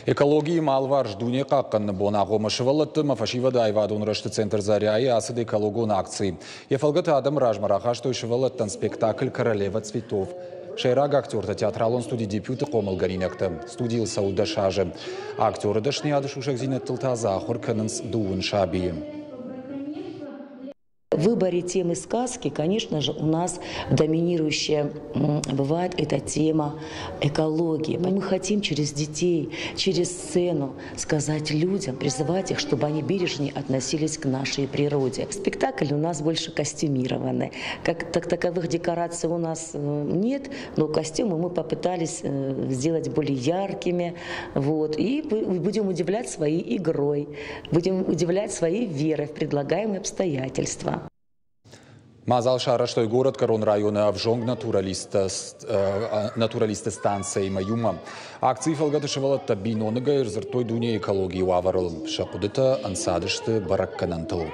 Экологийы алыварс дуне хъахъхъӕныны бон агъоммӕ сывӕллӕтты ӕмӕ фӕсивӕды аивадон рӕзты центр «Заря-йы» ацыд экологон акци. Йӕ фӕлгӕты адӕмы размӕ рахастой сывӕллӕттӕн спектакль «Королева цветов». Сӕйраг актертӕ театралон студи «Дебют»-ы хъомылгӕнинӕгтӕ. Студийыл цӕуы 10 азы. Актеры дӕсныйады сусӕгдзинӕдтыл та дзы ахуыр кӕнынц дыууын сабийы. В выборе темы сказки, конечно же, у нас доминирующая бывает эта тема экологии. Мы хотим через детей, через сцену сказать людям, призывать их, чтобы они бережнее относились к нашей природе. Спектакль у нас больше костюмированный. Как так таковых декораций у нас нет, но костюмы мы попытались сделать более яркими. Вот, и будем удивлять своей игрой, будем удивлять своей верой в предлагаемые обстоятельства. Мадзал сарӕзтой горӕтгӕрон районы ӕвзонг натуралистты станцӕимӕ иумӕ. Акцийы фӕлгӕты сывӕллӕттӕ биноныгӕй ӕрдзырдтой дунейы экологийы уавӕрыл. Сӕ хъуыдытӕ ӕнцадысты бӕрӕггӕнӕнтыл.